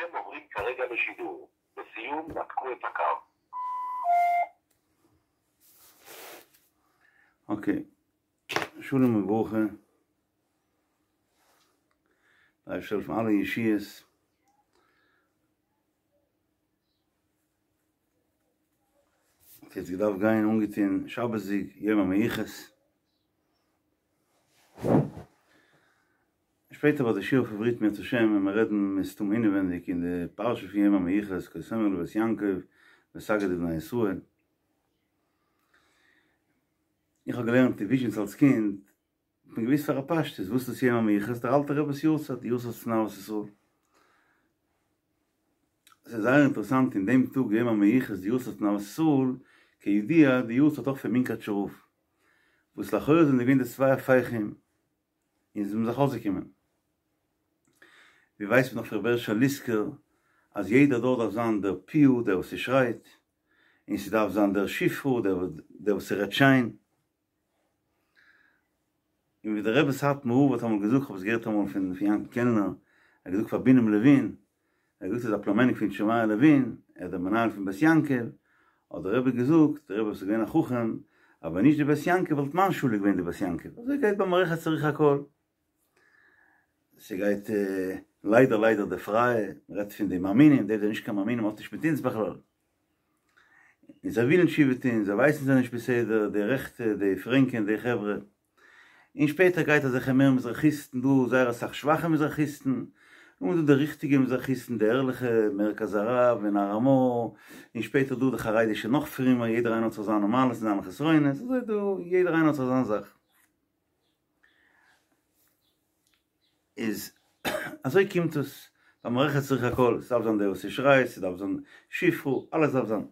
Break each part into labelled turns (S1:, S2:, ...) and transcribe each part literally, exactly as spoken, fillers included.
S1: אינכם עוברים כרגע לשידור. לסיום, נתקו את הקו.
S2: Okay, שלום וברכה. דער אייבערשטער זאל העלפן אלע ישועות. יעצט געדארפט גיין אנגעטון שבת'דיג יום המיוחס. שפעטער ביי די שיעור אויף עברית אם ירצה השם וועלן מיר רעדן מסתמא אינעווענדיג אין די פרשה פון יום המיוחס כה תאמר לבית יעקב ותגיד לבני ישראל. איך האב געלערנט אין וויזשניץ אלס קינד, האט מען געוואוסט פאר א פשטות וואס איז יום המיוחס, דער אלטער רבי'ס יארצייט, די יארצייט פון אהבת ישראל. עס איז זייער אינטערעסאנט אין דעם טאג יום המיוחס די יארצייט פון אהבת ישראל, כידוע די יארצייט אויך פון מונקאטשער רב, וואס לכאורה זענען געווען די צוויי הפכים און זיי זענען זיך אויסגעקומען. ווי ווייסט מען נאך פון ר' בעריש ליסקער אז יעדער דור דארף זיין דער פיהו דער וואס ס'שרייט, און ס'דארף זיין דער שפרה דער דער וואס ס'רעדט שיין. און ווי דער רבי סאטמאר רב האט אמאל געזאגט, כ'האב עס געהערט אמאל פון פון יענקל קעלנער, ער האט געזאגט פאר בינעם לעווין, ער האט געזאגט ער איז א פלומעניק פון שמעיה לעווין, ער איז דער מנהל פון בית יעקב, האט דער רבי געזאגט, דער רבי וואס איז געווען א חכם, אז ווען נישט די בית יעקב וואלט מיין שולע געווען די בית יעקב, אזוי גייט ביי מערכת צריך הכל. ס'גייט ליידער ליידער די פרייע, מ'רעדט פון די מאמינים, די זענען נישט קיין מאמינים האט נישט מיט אונז בכלל. און זיי ווילן תשובה טון, זיי ווייסן זיי נישט בסדר, די רעכטע, די פרענקען, די חברה. און שפעטער גייט אזעלכע מער מזרחיסטן דא, זייער אסאך שוואכע מזרחיסטן, און דא די ריכטיגע מזרחיסטן, די ערליכע, מרכז הרב און הר המור, און שפעטער דא די חרדישע נאך פרומער, יעדער איינער האט זיך זיינע מעלות און זיינע חסרונות, אזוי דא, יעדער איינער האט זיך זיין זאך. איז אזוי קומט עס, ביי מערכת צריך הכל, ס'דארף זיין דער וואס ס'שרייט, ס'דארף זיין שפרה, אלעס דארף זיין.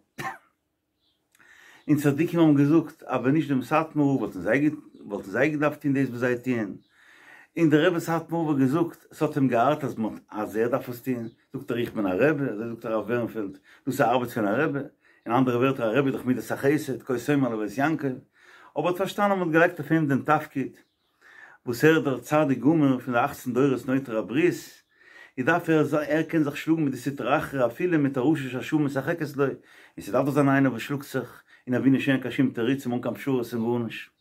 S2: און צדיקים האבן געזאגט אז ווען נישט דעם סאטמאר רב וואלטן זיי וואלטן זיי געדארפט טון דאס וואס זיי טוען, און דער רבי סאטמאר רב האט געזאגט ס'האט אים געארט אז מ'האט אז ער דארף עס טון, זאגט ער איך בין א רבי, אזוי זאגט הרב בערנפעלד, דאס איז א ארבעט פון א רבי, אין אנדערע ווערטער א רבי איז דאך מידת החסד, כה תאמר לבית יעקב, אבער האט פארשטאנען אז מ'האט געלייגט אויף אים דעם תפקיד, וואס ער איז דער צדיק גמור פון די אכצן דורות נוטר הברית, איז דארף ער זיין, ער קען זיך שלאגן מיט די סטרא אחרא אפילו מיט א רשע שהשעה משחקת לו, און ס'דארף דאך זיין איינער וואס שלאגט זיך, און אבי נישט קיין שום תירוצים אן קיין פשרות און גארנישט.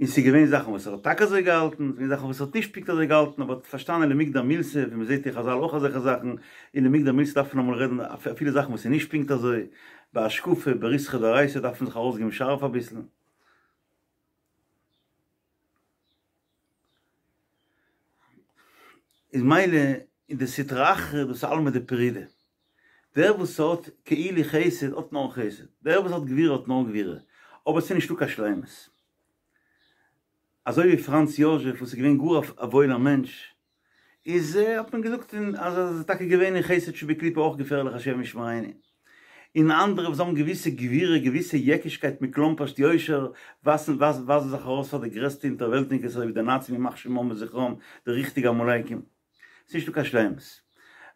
S2: און ס'איז געווען זאכן וואס ער האט טאקע אזוי געהאלטן, ס'איז געווען זאכן וואס ער האט נישט פונקט אזוי געהאלטן, אבער האט פארשטאנען למיגדר מילתא, ווי מ'זעט אין חזל אויך אזעלכע זאכן, און למיגדר מילתא דארף מען אמאל רעדן אפילו זאכן וואס איז נישט פונקט אזוי, בהשקפה, בריתחא דאורייתא דארף מען זיך ארויסגעבן שארף אביסל. איז מילא אין די סטרא אחרא דאס איז עלמא דפרידא. דער וואס האט כאילו חסד האט נאר חסד, דער וואס האט גבורה האט נאר גבורה, אבער ס'איז נישטא קיין שלימות. אזוי ווי פראנץ יאזשעף וואס איז געווען גאר א וואוילער מענטש, איז האט מען געזאגט אז ער איז טאקע געווען אין חסד שבקליפה אויך געפערליך השם ישמרינו. און אנדערע וואס האבן געוויסע גבורה געוויסע יעקישקייט מכלומפרשט יושר ווייזן ווייזן זיך ארויס פאר די גרעסטע אונטערוועלטניקעס אזוי ווי די נאצים ימח שמם וזכרם די ריכטיגע עמלקים. ס'איז נישטא קיין שלימות.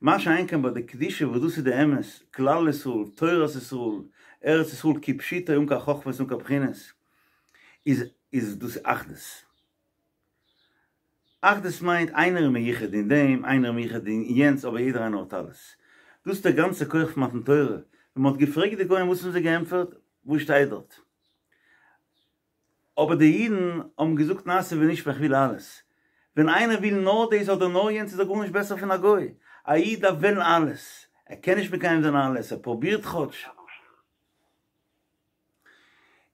S2: מה שאין כן ביי די קדושה וואס דאס איז די אמת, כלל ישראל, תורת ישראל, ארץ ישראל כפשוטו אן קיין חכמות אן קיין בחינות, איז איז דאס אחדות. אחדות מיינט איינער איז מיוחד אין דעם, איינער איז מיוחד אין יענץ, אבער יעדער איינער האט אלעס. דאס איז דער גאנצער כח פון מתן תורה. ווען מען האט געפרעגט די גוים וואס האבן זיי געענטפערט? וואס שטייט דארט? אבער די אידן האבן געזאגט נעשה ונשמע איך וויל אלעס. ווען איינער וויל נאר דאס אדער נאר יענץ איז ער גארנישט בעסער פון א גוי. א איד דארף וועלן אלעס. ער קען נישט מקיים זיין אלעס, ער פרובירט כאטש.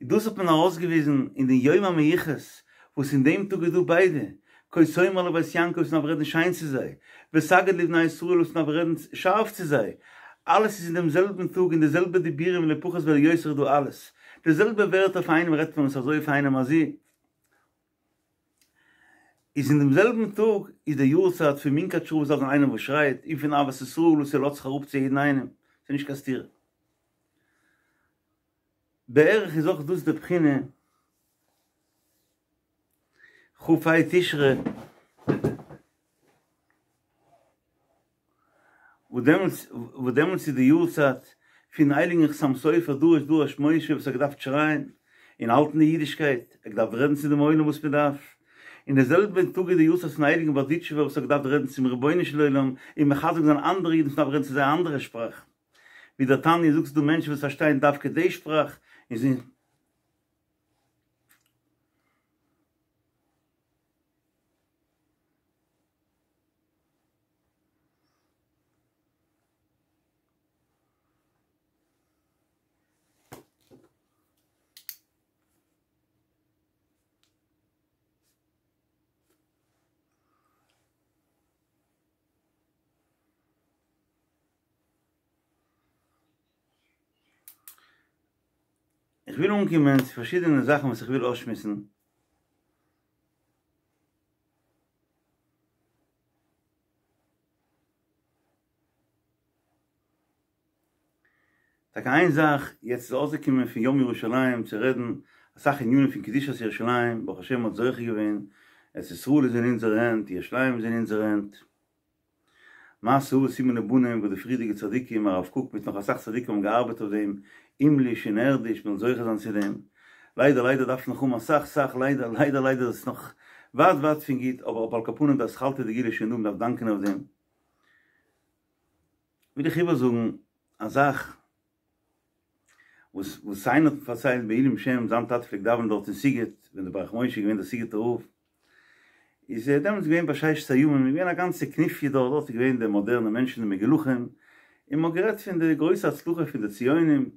S2: דאס האט מען ארויסגעוויזן אין די יום המיוחס, וואס אין דעם טאג איז דא ביידע, כה תאמר לבית יעקב וואס מ'דארף רעדן שיין צו זיי, ותגיד לבני ישראל וואס מ'דארף רעדן שארף צו זיי, אלעס איז אין דעם זעלבן טאג אין די זעלבע דיבורים לא פחות ולא יותר איז דא אלעס, די זעלבע ווערטער אויף איינעם רעדט מען עס אזוי אויף איינעם אזוי. איז אין דעם זעלבן טאג איז די יארצייט פון מונקאטשער רב וואס דארף זיין איינער וואס שרייט, און פון אהבת ישראל וואס ער לאזט זיך אראפ צו יעדן איינעם, ס'איז נישט קיין סתירה. בערך איז אויך דאס די בחינה כ"ה תשרי, וואס דעמאלטס וואס דעמאלטס איז די יארצייט פון הייליגן חתם סופר דרש דרש משה וואס האט געדארפט שרייען און האלטן די אידישקייט, ער האט געדארפט רעדן צו דעם עולם וואס מען דארף, אין די זעלבע טאג איז די יארצייט פון הייליגן בארדיטשובער וואס האט געדארפט רעדן צום רבונו של עולם און מחזק זיין אנדערע אידן וואס דארפן רעדן צו זיי א אנדערע שפראך, ווי דער תניא זאגט ס'דא מענטשן וואס פארשטייען דווקא די שפראך און זיי. איך וויל אנקומען צו פארשידענע זאכן וואס איך וויל אויסשמועסן. טאקע איין זאך, יעצט איז אויסגעקומען פון יום ירושלים צו רעדן אסאך ענינים פון קדושת ירושלים, ברוך השם מ'האט זוכה געווען, ארץ ישראל איז אין אונזערע הענט, ירושלים איז אין אונזערע הענט, מעשה אבות סימן לבנים וואס די פריערדיגע צדיקים, הרב קוק מיט נאך אסאך צדיקים האבן געארבעט אויף דעם, הימליש און ערדיש, מ'זאל זוכה זיין צו דעם, ליידער ליידער דארף נאך האבן אסאך סאך ליידער ליידער ליידער איז עס נאך ווייט ווייט פון גוט, אבער על כל פנים די אתחלתא דגאולה איז שוין דא, מ'דארף דאנקען אויף דעם. וויל איך איבערזאגן א זאך וואס וואס איינער האט מיר פארציילט בעילום שם, זיין טאטע פלעגט דאווענען דארט אין סיגוט ווען דער ברך משה איז געווען דער סיגוטער רב, איז ער דעמאלטס געווען בששת הימים, איז געווען א גאנצע כנופיא דארט, דארט איז געווען די מאדערנע מענטשן די מגולחים, און מ'האט גערעדט פון די גרויסע הצלחה פון די ציונים,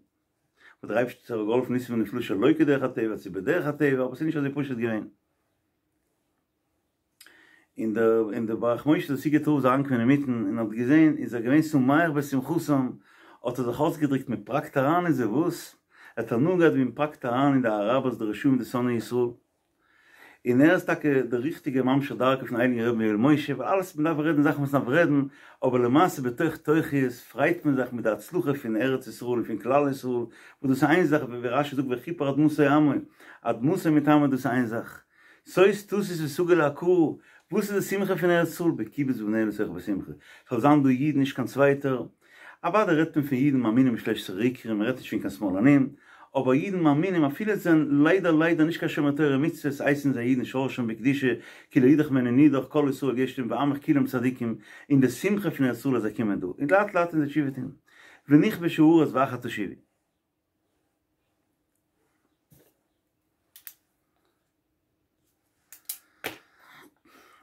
S2: וואס דער אייבערשטער האט געהאלפן ניסים ונפלאות שלא כדרך הטבע צו בדרך הטבע, אבער ס'איז נישט אזוי פשוט געווען. און דער און דער ברך משה דער סיגוטער רב איז אריינגעקומען אינמיטן און האט געזען איז ער געווען שמח בשמחתם האט ער זיך אויסגעדריקט מען פראקט אריין אין זיי וואס? ער האט הנאה געהאט ווי מען פראקט אריין אין די אראבערס די רשעים די שונאי ישראל און ער איז טאקע דער ריכטיגער ממשיך דרכו פון הייליגן רבי ויואל משה ווייל אלעס מען דארף רעדן זאכן וואס מען דארף רעדן אבער למעשה בתוך תוכיות פרייט מען זיך מיט די הצלחה פון ארץ ישראל און פון כלל ישראל וואס דאס איז איין זאך ווי רשי זאגט וכפר אדמתו עמו אדמתו מיט עמו דאס איז איין זאך שוש תשיש ותגל העקרה, וואס איז די שמחה פון ארץ ישראל? בקיבוץ בניה לתוכה בשמחה, ס'זאל זיין דא אידן נישט קיין צווייטער, אוודאי רעדט מען פון אידן מאמינים בשלושת עשרה עיקרים, מען רעדט נישט פון קיין שמאלנים, אבער אידן מאמינים אפילו זיי זענען ליידער ליידער נישט קיין שומר תורה ומצוות הייסן זיי אידן שורשם בקדושה כי לא ידח ממנו נידח כל ישראל יש להם ועמך כולם צדיקים, און די שמחה פון ארץ ישראל אז זיי קומען דא, און לאט לאט וועלן זיי תשובה טון, ונכבשה הארץ ואחר תשובו.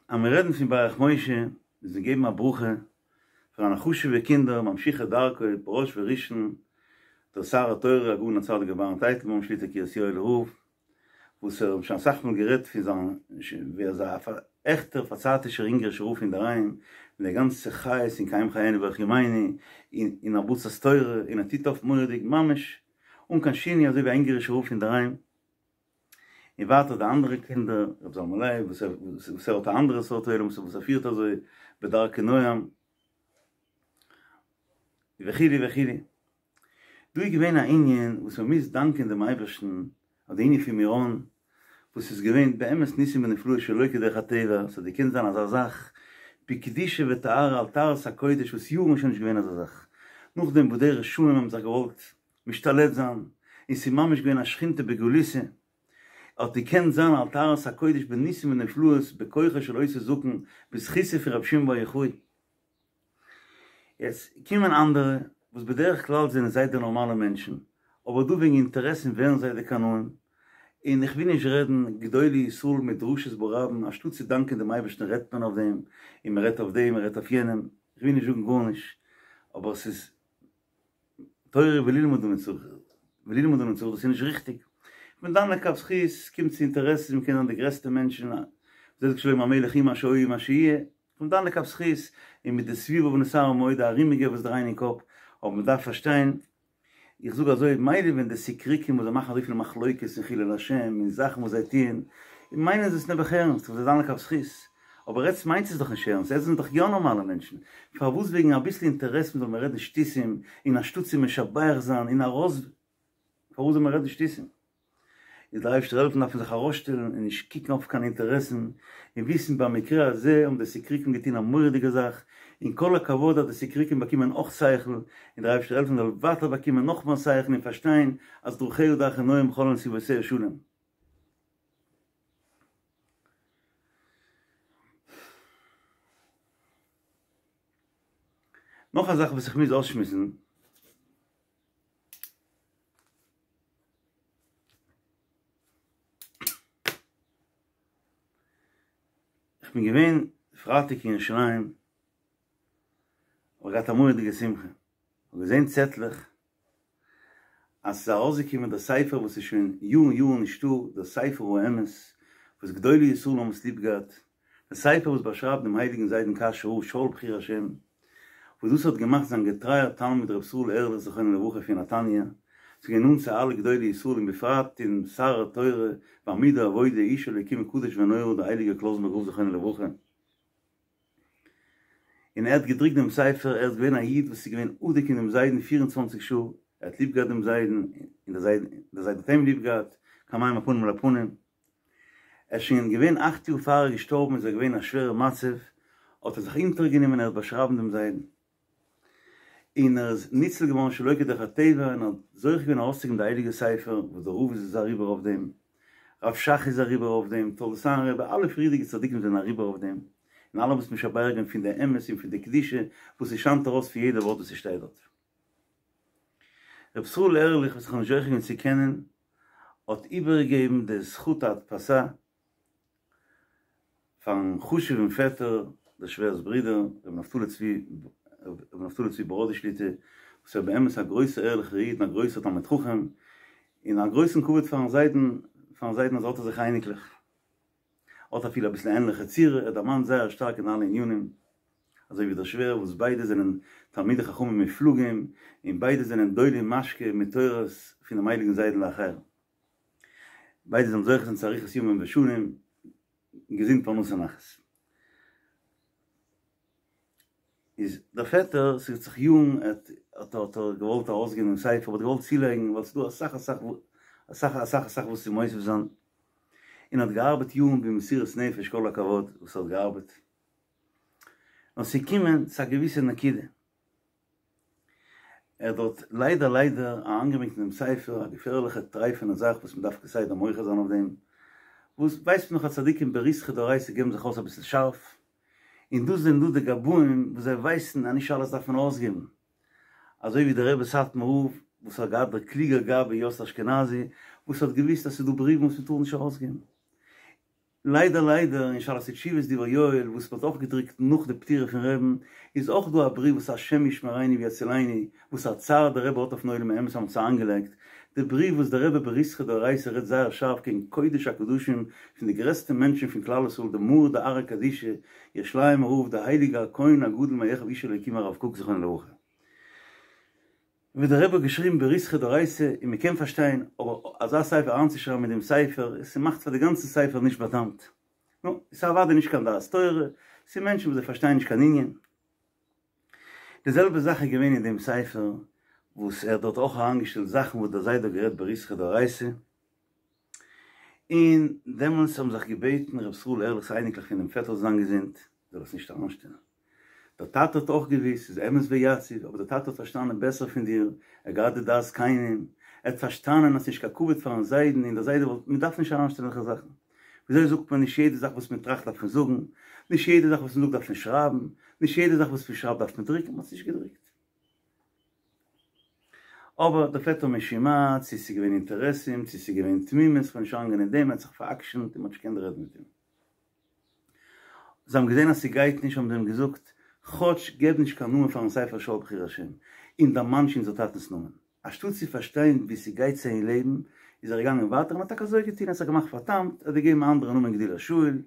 S2: אז מיר רעדן פון ברך משה, מוז מען געבן א ברכה פאר זיינע חשוב'ע קינדער ממשיכי דרכו בראש וראשון דער שר התורה הגאון הצדיק רבי אהרן טייטלבוים שליט"א קרית יואל'ער רב, וואס ער האט שוין אסאך מאל גערעדט פון זיין ווי ער איז א עכטער פארצייטישער אונגערישער רב אינדערהיים, מיט די גאנצע חיות און קיים חיינו ואורך ימינו, און הרבצת תורה, און ער טוט אויף מורא'דיג ממש אן קיין שינוי אזוי ווי א אונגערישער רב אינדערהיים. און ווייטער די אנדערע קינדער, ר' זלמן לייב וואס ער האט א אנדערע סארט עולם וואס ער פירט אזוי בדרכי נועם, וכו' וכו'. דא איז געווען א ענין וואס מען מוז דאנקען דעם אייבערשטן אויף די ענין פון מירון, וואס איז געווען באמת ניסים ונפלאות שלא כדרך הטבע, ס'האט געקענט זיין אזא זאך בקדושה וטהרה על טהרת הקודש וואס יארן איז שוין נישט געווען אזא זאך, נאכדעם וואס די רשעים האבן זיך געוואלט משתלט זיין, און ס'איז ממש געווען א שכינתא בגלותא, האט געקענט זיין על טהרת הקודש בניסים ונפלאות בכוחו של אותו זקן בזכותו פון רבי שמעון בר יוחאי. יעצט קומען אנדערע וואס בדרך כלל זענען זיי די נארמאלע מענטשן, אבער דא וועגן אינטערעסן ווערן זיי די קנאים, און איך וויל נישט רעדן גדולי ישראל מיט דרשות ברבים, אנשטאט צו דאנקען דעם אייבערשטן רעדט מען אויף דעם, און מען רעדט אויף דעם, מען רעדט אויף יענעם, איך וויל נישט זאגן גארנישט, אבער ס'איז תורה וללמוד אני צריך, וללמוד אני צריך, דאס איז נישט ריכטיג. איך בין דן לכף זכות, ס'קומט צו אינטערעסן, מ'קען זיין די גרעסטע מענטשן, אזוי זאגט שלמה המלך הוא מה שהיה הוא מה שיהיה, איך בין דן לכף זכות, און מיט די סביבה ונתערב מאוד די ארומיגע וואס דרייען אין קאפ, אבער מ'דארף פארשטיין, איך זאג אזוי, מילא ווען די סיקריקים וואס זיי מאכן אזויפיל מחלוקת און חילול השם און זאכן וואס זיי טוען, מיינען זיי עס נעבעך ערנסט, וואס זיי דן לכף זכות, אבער עטס מיינטס עס דאך נישט ערנסט, עטס זענט דאך יא נארמאלע מענטשן, פארוואס וועגן אביסל אינטערעסן זאל מען רעדן שטותים, און אנשטאט צו משבח זיין און ארויס, פארוואס זאל מען רעדן שטותים? איז דער אייבערשטער העלפן דארף מען זיך ארויסשטעלן און נישט קוקן אויף קיין אינטערעסן, און וויסן במקרה הזה האבן די סיקריקים געטון א מורא'דיגע זאך, און כל הכבוד אז די סיקריקים באקומען אויך שכל, און דער אייבערשטער העלפן זאל ווייטער באקומען נאך מער שכל און פארשטיין אז דרכיה דרכי נועם וכל נתיבותיה שלום. נאך א זאך וואס איך מוז אויסשמועסן. איך בין געווען פרייטאג אין ירושלים, האב איך געהאט א מורא'דיגע שמחה, איך האב געזען צעטלעך אז ס'איז ארויסגעקומען דער ספר וואס איז שוין יארן יארן נישטא, דער ספר האמת וואס גדולי ישראל האבן עס ליב געהאט, דער ספר וואס באשרייבט דעם הייליגן זיידן קאשוי רב שאול בחיר השם, וואס דאס האט געמאכט זיין געטרייער תלמיד ר' ישראל ערליך זכרונו לברכה פון נתניה, ס'איז געווען נאנט צו אלע גדולי ישראל און בפרט צום שר התורה ועמוד העבודה איש אלוקים קדוש ונורא דער הייליגער קלויזנבורגער רב זכרונו לברכה. און ער האט געדרוקט דעם ספר, ער איז געווען א איד וואס איז געווען אדוק אין דעם זיידן פֿיר און צוואַנציק שעה, ער האט ליב געהאט דעם זיידן, און דער זיידע דער זיידע האט אים ליב געהאט, כמים הפנים לפנים. ער איז שוין געווען אכט יאר פאר ער איז געשטארבן איז ער געווען אין א שווערע מצב, האט ער זיך אונטערגענומען ער וועט באשרייבן דעם זיידן. און ער איז ניצול געווארן שלא כדרך הטבע און האט זוכה געווען ארויסצוגעבן די הייליגע ספר וואס דער רב איז אריבער אויף דעם, רב שך איז אריבער אויף דעם, תולדות אהרן רבי, אלע פריערדיגע צדיקים זענען אריבער אויף דעם, און אלע האבן עס משבח געווען פון די אמת און פון די קדושה וואס עס שיינט ארויס פון יעדע ווארט וואס עס שטייט דארט. רבי ישראל ערליך וואס איך האב נישט זוכה געווען צו קענען האט איבערגעגעבן די זכות ההדפסה פארן חשוב'ן פעטער, דער שווער'ס ברודער, רבי נפתלי צבי, רבי נפתלי צבי בראדי שליט"א, וואס איז באמת א גרויסער ערליכער איד און א גרויסער תלמיד חכם, און א גרויסן כבוד פארן זיידן, פארן זיידן אז ער האט אזעלכע אייניקלעך. האט אפילו אביסל ענליכע צורה, ער דערמאנט זייער שטארק אין אלע ענינים, אזוי ווי דער שווער, וואס ביידע זענען תלמידי חכמים מופלגים, און ביידע זענען דולים משקה מתורת פונעם הייליגן זיידן לאחר. ביידע זאלן זוכה זיין צו אריכות ימים ושנים, געזונט פרנסה נחת. איז דער פעטער, ס'האט זיך יארן האט האט ער געוואלט ארויסגעבן דעם ספר, האט געוואלט צולייגן ווייל ס'איז דא אסאך אסאך אסאך אסאך אסאך וואס צו מוסיף זיין, און האט געארבעט יארן במסירות נפש כל הכבוד וואס ער האט געארבעט, נאר ס'איז געקומען צו א געוויסע נקודה, ער האט דארט ליידער ליידער אריינגעברענגט אין דעם ספר א געפערליכע טרייפענע זאך וואס מען דארף כסדר מוחה זיין אויף דעם, וואס ווייסט מען נאך אז צדיקים בריתחא דאורייתא געבן זיך אויס אביסל שארף, און דאס זענען דא די גבאים וואס זיי ווייסן אז נישט אלעס דארף מען אויסגעבן, אזוי ווי דער רבי סאטמאר רב וואס האט געהאט דער קלוגער גבאי יאסל אשכנזי וואס האט געוויסט אז ס'איז דא בריוון וואס מען טאר נישט ארויסגעבן. ליידער ליידער אין שאלות ותשובות דברי יואל וואס מ'האט אויך געדרוקט נאך די פטירה פון רעבן איז אויך דא א בריוו וואס השם ישמרינו ויצילנו וואס א צער דער רבי האט אויפן עולם האמת אז מ'האט עס אריינגעלייגט די בריוו וואס דער רבי בריתחא דאורייתא רעדט זייער שארף קעגן קודש הקדשים פון די גרעסטע מענטשן פון כלל ישראל די מרא דארעא קדישא ירושלימ'ער רב דער הייליגער הכהן הגדול מאחיו איש אלוקים הרב קוק זכרונו לברכה. ווי דער רבי האט געשריבן בריתחא דאורייתא און מען קען פארשטיין, אבער אזא ספר אריינצושרייבן אין דעם ספר, ס'מאכט פאר די גאנצע ספר נישט בא'טעמ'ט. נו, ס'איז אוודאי נישט קיין דעת תורה, ס'איז מענטשן וואס זיי פארשטייען נישט קיין ענין. די זעלבע זאך איז געווען אין דעם ספר, וואס ער האט דארט אויך אריינגעשטעלט זאכן וואס דער זיידע האט גערעדט בריתחא דאורייתא, און דעמאלטס האבן זיך געבעטן ר' ישראל ערליכ'ס אייניקלעך פונעם פעטער זאל זיין געזונט, זאל עס נישט אריינשטעלן. דער טאטע האט אויך געוואוסט ס'איז אמת ויציב, אבער דער טאטע האט פארשטאנען בעסער פון דיר, ער האט געהאט די דעת זקנים, ער האט פארשטאנען אז ס'נישט קיין כבוד פארן זיידן און דער זיידע וואלט, מען דארף נישט אריינשטעלן אזעלכע זאכן. וויאזוי זאגט מען, נישט יעדע זאך וואס מען טראכט דארף מען זאגן, נישט יעדע זאך וואס מען זאגט דארף מען שרייבן, נישט יעדע זאך וואס מען שרייבט דארף מען דרוקן, מען האט עס נישט געדרוקט. אבער דער פעטער משום מה, צו ס'איז געווען אינטערעסים, צו ס'איז געווען תמימות, כ'וועל נישט אריינגיין אין דעם, ער האט זיך פאר'עקשנ'ט און מ'האט נישט געקענט רעדן מיט אים. זיי האבן געזען אז ס'גייט נישט האבן זיי אים געזאגט, כאטש געב נישט קיין נאמען פארן ספר שאול בחיר השם, און דערמאן נישט אונזער טאטנ'ס נאמען. אנשטאט צו פארשטיין ווי ס'גייט צו אין לעבן, איז ער געגאנגען ווייטער און האט טאקע אזוי געטון, ער האט זיך געמאכט פאר'טעמ'ט, ער האט געגעבן א אנדערע נאמען גדילה שאול,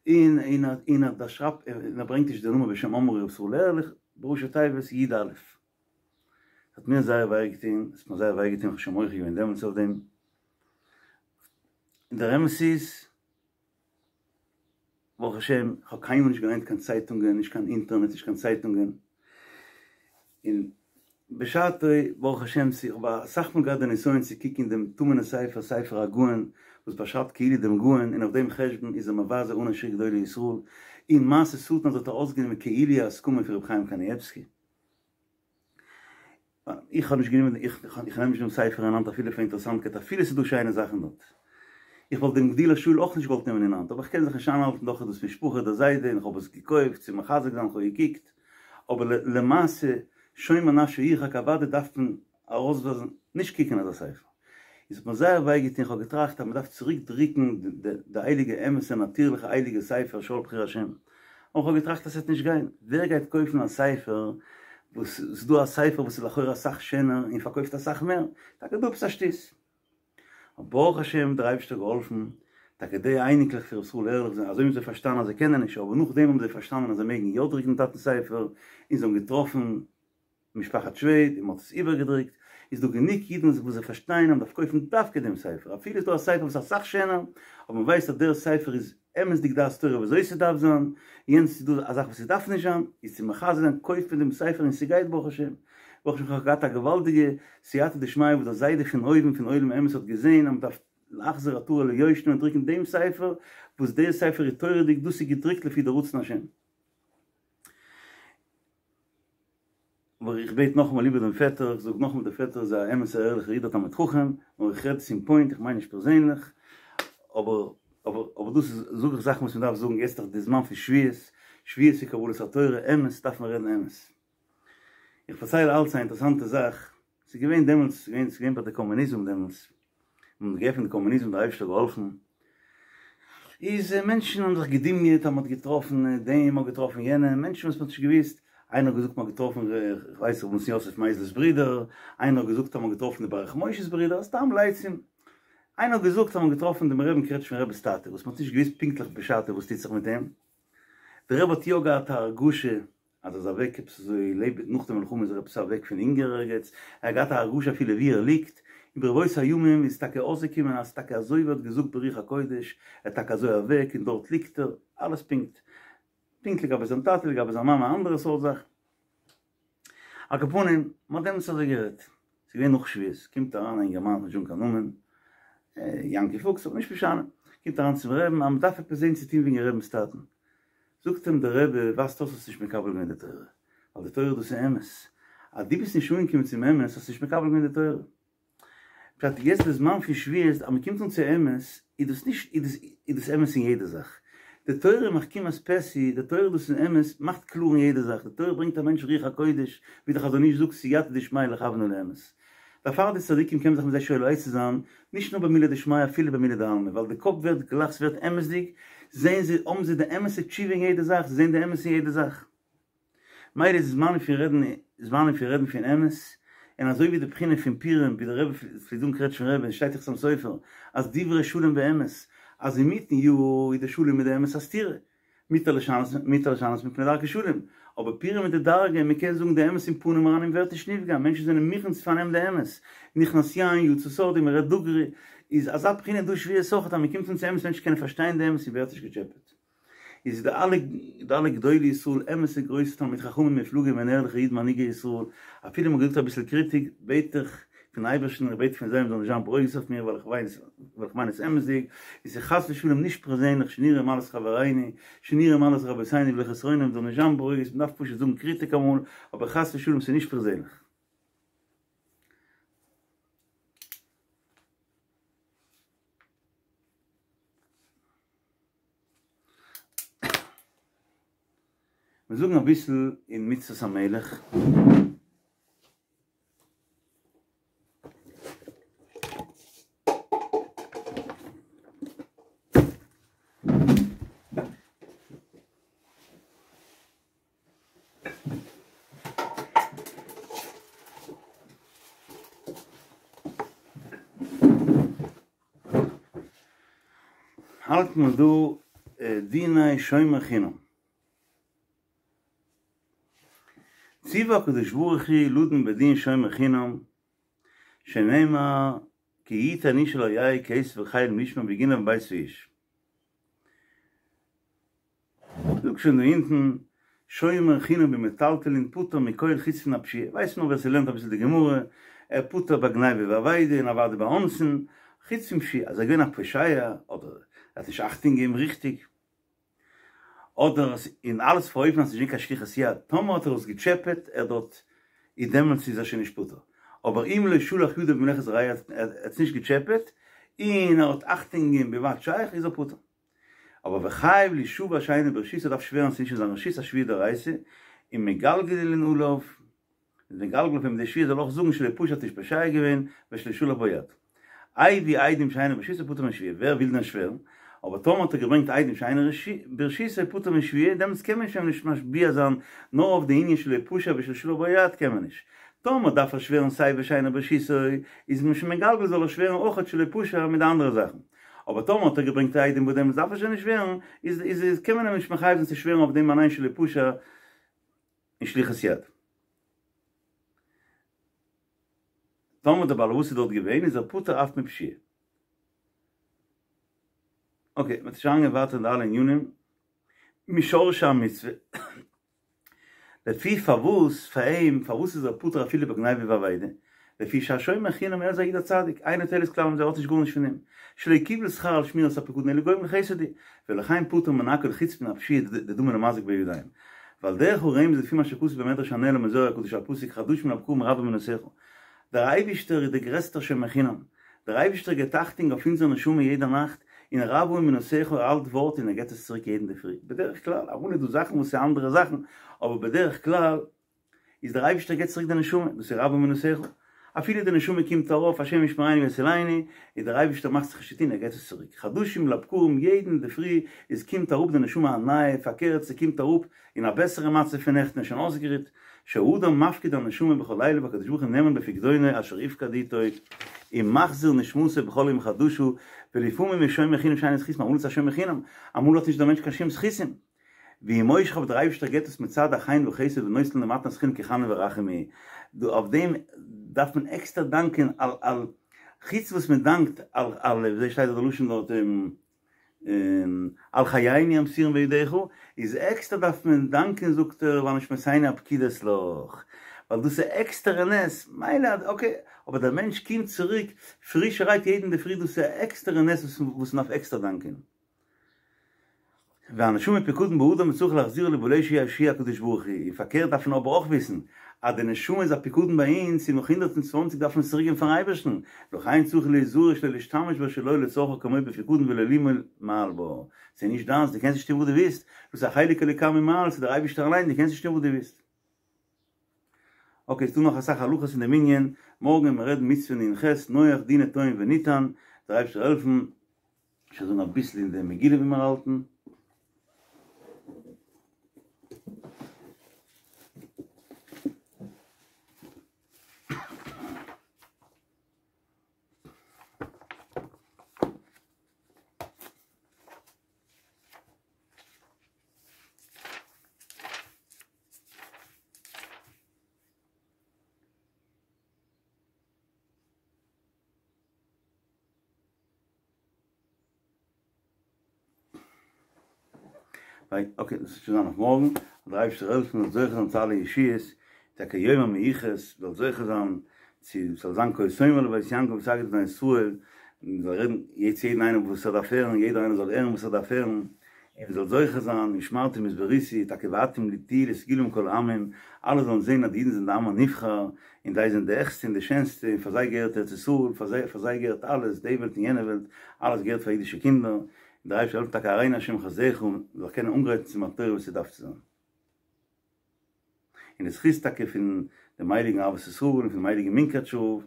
S2: און און און ער שרייבט און ער ברענגט נישט די נאמען בשם אומרו ר' ישראל ערליך, בראשי תיבות י א. ס'האט מיר זייער וויי געטון, עס האט מיר זייער וויי געטון, איך האב שוין מוחה געווען דעמאלטס אויף דעם, און דער אמת איז, ברוך השם, איך האב קיינמאל נישט געליינט קיין צייטונגען, נישט קיין אינטערנעט, נישט קיין צייטונגען, און בשעתו, ברוך השם, איך האב אסאך מאל געהאט די נסיון צו קוקן אין דעם טמא'נע ספר, ספר הגאון, וואס באשרייבט כאילו דעם גאון, און אויף דעם חשבון איז ער מבזה אן א שיעור גדולי ישראל, און מעשה שטן אז האט ער אויסגענומען כאילו א הסכמה פון רבי חיים קנייבסקי. איך האב נישט גענומען, איך נעם נישט דעם ספר אין האנט אפילו פאר אינטערעסאנטקייט, אפילו ס'איז דא שיינע זאכן דארט. איך וואלט דעם גדילה שאול אויך נישט געוואלט נעמען אין האנט, אבער איך קען זיך נישט איינהאלטן, דאך איז דאס משפחה, דער זיידע, און איך האב עס געקויפט צו מחזק זיין, איך האב געקוקט, אבער למעשה שומר נפשו ירחק אוודאי דארף מען ארויסווייזן נישט קוקן אזא ספר. איז האט מיר זייער וויי געטון, איך האב געטראכט אז מען דארף צוריק דרוקן די הייליגע אמת'ע נאטירליכע הייליגע ספר שאול בחיר השם, אבער איך האב געטראכט אז ס'וועט נישט גיין, ווער גייט קויפן א ספר וואס ס'איז דא א ספר וואס איז לכאורה אסאך שענער און פארקויפט אסאך מער, טאקע דא עפעס א שטות. ברוך השם דער אייבערשטער האט געהאלפן, טאקע די אייניקלעך פון ר' ישראל ערליך זענען אזוי האבן זיי פארשטאנען אז זיי קענען נישט, אבער נאכדעם האבן זיי פארשטאנען אז זיי מעגן יא דרוקן דעם טאטנ'ס ספר, און זיי האבן געטראפן משפחת שוועד און מען האט עס איבערגעדרוקט, איז דא גענוג אידן וואס זיי פארשטייען אז מען דארף קויפן דווקא דעם ספר, אפילו איז דא א ספר וואס איז אסאך שענער, אבער מען ווייסט אז דער ספר איז אמת'דיג דעת תורה ווי אזוי ס'דארף זיין, יענץ איז דא א זאך וואס ס'דארף נישט זיין, איז צו מחזק זיין קויפט מען דעם ספר און ס'גייט ברוך השם. ברוך השם כ'האב געהאט א געוואלדיגע סייעתא דשמיא וואס דער זיידע פון אויבן פון עולם האמת האט געזען אז מ'דארף להחזיר עטרה ליושנה און דרוקן דעם ספר, וואס דער ספר איז תורה'דיג, דאס איז געדרוקט לפי די רצון השם. אבער איך בעט נאכאמאל איבער דעם פעטער, איך זאג נאכאמאל דער פעטער איז א אמת'ער ערליכער איד א תלמיד חכם, נאר איך רעד צום פוינט, איך מיין נישט פערזענליך, אבער אבער אבער דאס איז זאג איך זאכן וואס מען דארף זאגן, יעצט איז דאך די זמן פון שבועות, שבועות איז קבלת התורה, אמת דארף מען רעדן אמת. איך פארצייל אלץ א אינטערעסאנטע זאך, ס'איז געווען דעמאלטס, ס'איז געווען ס'איז געווען ביי די קאמוניזם דעמאלטס, מען האט געעפנט די קאמוניזם דער אייבערשטער האט געהאלפן, איז מענטשן האבן זיך געדמיונ'ט אז מען האט געטראפן דעם, מען האט געטראפן יענעם, מענטשן וואס מען האט נישט געוואוסט, איינער האט געזאגט מען האט געטראפן איך ווייס ר' נתן יוסף מייזליש'ס ברודער, איינער האט געזאגט אז מען האט געטראפן די ברך משה'ס ברודער, סתם לצים, איינער האט געזאגט אז מען האט געטראפן דעם רבי'ן קרעטשניפער רבי'ס טאטע, וואס מען האט נישט געוואוסט פונקטליך בשעתו וואס טוט זיך מיט אים, דער רבי האט יא געהאט א הרגשה אז ער איז אוועק עפעס אזוי לעבעד נאך די מלחמה איז ער עפעס אוועק פון הונגער ערגעץ, ער האט געהאט א הרגשה אפילו ווי ער ליגט, און ברבות הימים איז טאקע אויסגעקומען אז טאקע אזוי ווי ער האט געזאגט ברוח הקודש, ער איז טאקע אזוי אוועק און דארט ליגט ער, אלעס פונקט פונקט לגבי זיין טאטע לגבי זיין מאמע א אנדערע סארט זאך. על כל פנים, מען האט דעמאלטס אזוי גערעדט, ס'איז געווען נאך שבועות, קומט אריין א אינגערמאן, נישט זאגן קיין נאמען, יענקי פוקס, אבער נישט משנה, קומט אריין צום רעבן אז מען דארף עפעס זען צו טון וועגן רעבנ'ס טאטן, זאגט אים דער רבי, ווייזט אויס האסט נישט מקבל געווען די תורה, ווייל די תורה דאס איז אמת, אז דו ביסט נישט אנגעקומען צום אמת האסטו נישט מקבל געווען די תורה. פשט יעצט די זמן פון שבועות אז מען קומט אן צו אמת, איז דאס נישט איז דאס איז דאס אמת אין יעדע זאך, די תורה מחכימת פתי, די תורה דאס איז אמת, מאכט קלאר אין יעדע זאך, די תורה ברענגט א מענטש רוח הקודש, ווי דער חזון איש זאגט סייעתא דשמיא לכוון אל האמת. דערפאר די צדיקים קען מען זיך מיט זיי שואל עצה זיין, נישט נאר במילי דשמיא אפילו במילי דעלמא, ווייל די קאפ ווערט גלייך ס'ווערט אמת'דיג, זעהן זיי, האבן זיי די אמת'ע תשובה אין יעדע זאך, זיי זעהן די אמת אין יעדע זאך. מילא איז זמנים פון רעדן, זמנים פון רעדן פון אמת, און אזוי ווי די בחינה פון פורים, ווי דער רבי פלעגט זאגן קרעטשניפער רבי, שטייט אין חתם סופר, אז דברי שלום ואמת, אז אינמיטן יאר איז די שלום מיט די אמת א סתירה, מותר לשנות מותר לשנות מפני דרכי שלום, אבער פורים איז די דרגה, מען קען זאגן די אמת אין פנים אריין און ווערט נישט נפגע, מענטשן זענען מוכן צו פארנעמען די אמת, נכנס יין יצא סוד און מען רעדט דוגרי, איז אזא בחינה דא שבועות אויכעט אז מען קומט אן צו אמת מענטשן קענען פארשטיין די אמת און ווערט נישט געטשעפעט. איז די אלע די אלע גדולי ישראל אמת'ע גרויסע תלמיד חכמים מופלגים און ערליכע אידן מנהיגי ישראל, אפילו מ'האט געזאגט אביסל קריטיק, בעט איך פון אייבערשטן איך בעט פון זיי מ'זאל נישט זיין ברוגז אויף מיר ווייל איך ווייס ווייל איך מיין עס אמת'דיג, און ס'איז חס ושלום נישט פערזענליך שנראה מעלת חברינו שנראה מעלת רבותינו בלי חסרונם מ'זאל נישט זיין ברוגז מ'דארף פשוט זאגן קריטיק אמאל, אבער חס ושלום ס'איז נישט פערזענליך. מיר זאגן אביסל אין מצוות המלך. האלט מען דא דיני שומר חינם. ציוה הקדוש ברוך הוא לדון בדין שומר חינם, שנאמר כי יתן איש אל רעהו כסף וחיל משמר וגנב מבית האיש. זאג שוין דא אונטן, שומר חינם במטלטלין פטור מכל חוץ מן הפשיעה, ווייסט נאר ווער ס'לערנט אביסל די גמרא, ער פטור ביי גניבה ואבידה און אוודאי ביי אונסין, חוץ פון פשיעה, אז ער איז געווען א פושע, אדער ער האט נישט אכטונג געגעבן ריכטיג, אדער און אלעס אויף אן אופן אז ס'נישט געווען קיין שליחות יד, טאמער האט ער עס געטשעפעט ער דארט, איז דעמאלטס איז ער שוין נישט פטור, אבער אם לא שלח ידו במלאכת רעהו ער האט עס נישט געטשעפעט, און ער האט אכטונג געגעבן בלבד שייך איז ער פטור. אבער וחייב לישבע שאינו ברשותו ער דארף שווערן ס'נישט אין זיין רשות א שבועה דאורייתא, און מגלגלין עליו, איז מגלגל אויף אים די שבועה זאל אויך זאגן שלא פשע האט נישט פושע געווען ושלא שלח בו יד. הביא עדים שאינן ברשותו פטור משבועה, ווער וויל דען שווערן? אבער טאמער האט ער געברענגט עדים שאינן ברשותו פטור משבועה, דעמאלטס קען מען שוין נישט משביע זיין נאר אויף די ענין שלא פשע ושלא שלח בו יד קען מען נישט. טאמער דארף ער שווערן סיי ושאינו ברשותו, איז מען שוין מגלגל זאל ער שווערן אויכעט שלא פשע מיט די אנדערע זאכן. אבער טאמער האט ער געברענגט עדים וואס דעמאלטס דארף ער שוין נישט שווערן, איז איז קען מען אים נישט מחייב זיין צו שווערן אויף דעם אליין שלא פשע און שליחת יד. טאמער דער בעל הבית איז דארט געווען איז ער פטור אף מפשיעה. אקעי, מ'וועט שוין אריינגיין ווייטער אין די אלע ענינים. משורשי המצוה. לפי פארוואס פאר אים, פארוואס איז ער פטור אפילו בגניבה ואבידה? לפי שהשומר חינם ער איז א איד א צדיק, אינו תועלת כלל מזה ער האט נישט גארנישט פון דעם, שלא קיבל שכר על שמירת הפקדון אלא גומל חסד הוא, ולכן פטור מן הכל חוץ מן הפשיעה דדמי למזיק בידיים. ועל דרך הרמז לפי מה שכתוב במדרש הנעלם בזוהר הקדוש על פסוק חדשים לבקרים רבה אמונתך. דער אייבישטער איז דער גרעסטער שומר חינם, דער אייבישטער געבט אכטונג אויף אונזער נשמה יעדע נאכט, און רבה אמונתך ער האלט ווארט און ער געבט עס צוריק יעדן אינדערפרי, בדרך כלל, אמאל איז דא זאכן וואס איז אנדערע זאכן, אבער בדרך כלל איז דער אייבישטער געבט צוריק די נשמה, דאס איז רבה אמונתך, אפילו די נשמה קומט ארויף השם ישמרנו ויצילנו, איז דער אייבישטער מאכט זיך נישט צוטון ער געבט עס צוריק, חדשים לבקרים יעדן אינדערפרי איז קומט אראפ די נשמה א נייע, פארקערט ס'קומט אראפ אין א בעסערע מצב פון נעכטן איז שוין אויסגערוט, שהאדם מפקיד הנשמה בכל לילה והקדוש ברוך הוא נאמן בפקדונו אשר יפקד איתו ומחזיר נשמתו בכל יום חדשה, ולפעמים יש שומר חינם שאין זכות אמאל איז א שומר חינם, אמאל האט נישט דער מענטש קיין שום זכותים. והוא מושך אבער דער אייבערשטער געבט עס מצד החן וחסד ונותן למתנת חינם כי חנון ורחום הוא, דא אויף דעם דארף מען עקסטער דאנקען על על חוץ וואס מען דאנקט על על וויאזוי שטייט דארט די לשון דארט על חיינו המסורים בידך, איז עקסטער דארף מען דאנקען זאגט ער ועל נשמותינו הפקודות לך, ווייל דאס איז עקסטערע נס, מילא אקעי, אבער דער מענטש קומט צוריק פרישערהייט יעדן אינדערפרי דאס איז א עקסטערע נס וואס מען דארף עקסטער דאנקען. והנשמה פקדון באדם וצריך להחזירה לבעליה שהוא הקדוש ברוך הוא, און פארקערט דארף מען אבער אויך וויסן אז די נשמה איז א פקדון ביי אונז און נאך הונדערט און צוואנציג דארף מען עס צוריק געבן פארן אייבערשטן, לכן צריך להיזהר שלא להשתמש בה שלא לצרכה כמו בפקדון ולא למעול מעל בה, ס'איז נישט דיינס, דו קענסט נישט טון וואס דו ווילסט, דאס איז א חלק אלוקה ממעל, ס'איז דער אייבערשטער אליין, דו קענסט נישט טון וואס דו ווילסט. אקעי, ס'דא נאך אסאך הלכות אין דעם ענין, מארגן וועלן מיר רעדן מצוה נ"ח, נח דינה טוען ונטען, דער אייבערשטער זאל העלפן. שוין זאגן אביסל אין די מגילה ווי מיר האלטן. אקעי, דאס וועט שוין זיין אויף מארגן, זאל דער אייבערשטער העלפן מ'זאל זוכה זיין צו אלע ישועות, טאקע יום המיוחס, מ'זאל זוכה זיין צו ס'זאל זיין כה תאמר לבית יעקב ותגיד לבני ישראל, מ'זאל רעדן יעצט יעדן איינעם וואס ער דארף הערן, יעדער איינער זאל הערן וואס ער דארף הערן, און מ'זאל זוכה זיין ונשמרתם מאד בריתי, טאקע ואתם תהיו לסגולה מכל העמים, אלע זאלן זען אז די אידן זענען די עם הנבחר, און זיי זענען די העכסטע און די שענסטע, און פאר זיי געהערט ארץ ישראל, פאר זיי פאר זיי געהערט אלעס, די וועלט און יענע וועלט, אלעס געהערט פאר אידישע קינדער, און דער אייבערשטער זאל העלפן טאקע הראנו השם חסדך, און מ'זאל קענען אנגרייטן צו מתן תורה ווי ס'דארף צו זיין. און די זכות טאקע פון דעם הייליגן אהבת ישראל און פונעם הייליגן מונקאטשער רב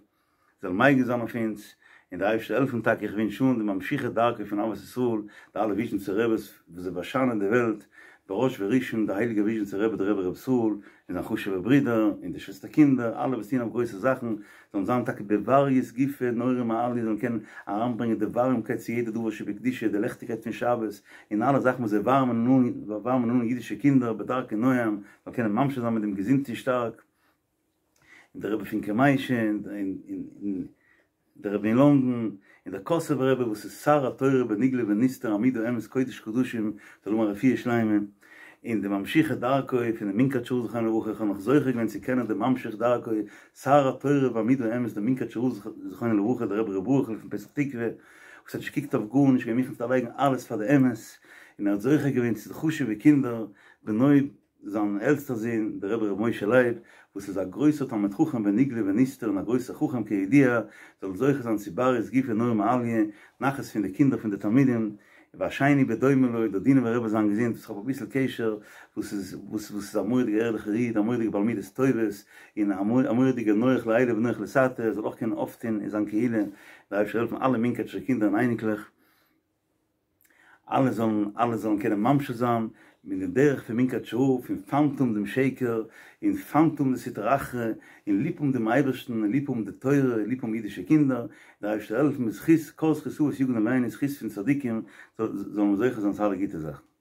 S2: זאל מגין זיין אויף אונז, און דער אייבערשטער זאל העלפן טאקע איך ווינטש אן די ממשיכי דרכו פון אהבת ישראל, די אלע וויזשניצער רעבעס וואס זיי באשיינען די וועלט, בראש וראשון דער הייליגער וויזשניצער רבי דער רבי ר' ישראל, און זיין חשוב'ע ברידער, און די שוועסטער קינדער, אלע וואס טוען אויף גרויסע זאכן, זאלן זיין טאקע בבריות גופא נהורא מעליא, זאלן קענען אריינברענגען די ווארימקייט צו יעדע דבר שבקדושה, די לעכטיגקייט פון שבת, און אלע זאכן וואס זיי ווארעמען אן ווארעמען אן אידישע קינדער בדרכי נועם, זאל קענען ממשיך זיין מיט דעם געזונט און שטארק. און דער רבי פון קאמיישע, און דער רבי אין לונדון, און דער קאסובער רבי וואס איז שר התורה בנגלה ונסתר עמוד האמת קודש קדשים, זאל האבן א רפואה שלימה, און די ממשיכי דרכו פונעם מונקאטשער רב זכרונו לברכה, איך האב נאך זוכה געווען צו קענען דעם ממשיך דרכו, שר התורה ועמוד האמת דער מונקאטשער רב זכרונו לברכה, דער רבי ר' ברוכ'ל פון פתח תקוה, וואס האט נישט געקוקט אויף גארנישט, געווען מוכן צו דערלייגן אלעס פאר די אמת, און ער האט זוכה געווען צו די חשוב'ע קינדער, בנו זיין עלטסטער זון דער רבי ר' משה לייב וואס איז א גרויסער תלמיד חכם בנגלה ונסתר און א גרויסער חכם כידוע, זאל זוכה זיין צו בריות גופא נהורא מעליא, נחת פון די קינדער פון די תלמידים, והשני בדומה לו, דער דינובער רבי זיין געזונט, וואס איך האב אביסל קשר, וואס איז וואס וואס איז א מורא'דיגע ערליכער איד, א מורא'דיגע בעל מידות טובות, און א מורא'דיגע נוח לעילא ונוח לתתא, ער זאל אויך קענען אויפטון אין זיין קהילה, דער אייבערשטער העלפן אלע מונקאטשער קינדער און אייניקלעך. אלע זאלן אלע זאלן קענען ממשיך זיין מיט די דרך פון מונקאטשער רב פון פיינט האבן דעם שקר און פיינט האבן די סטרא אחרא און ליב האבן דעם אייבערשטן און ליב האבן די תורה און ליב האבן אידישע קינדער, דער אייבערשטער העלפן בזכות כל זכות אבות יגן עלינו זכות פון צדיקים זאלן מיר זוכה זיין צו אלע גוטע זאכן.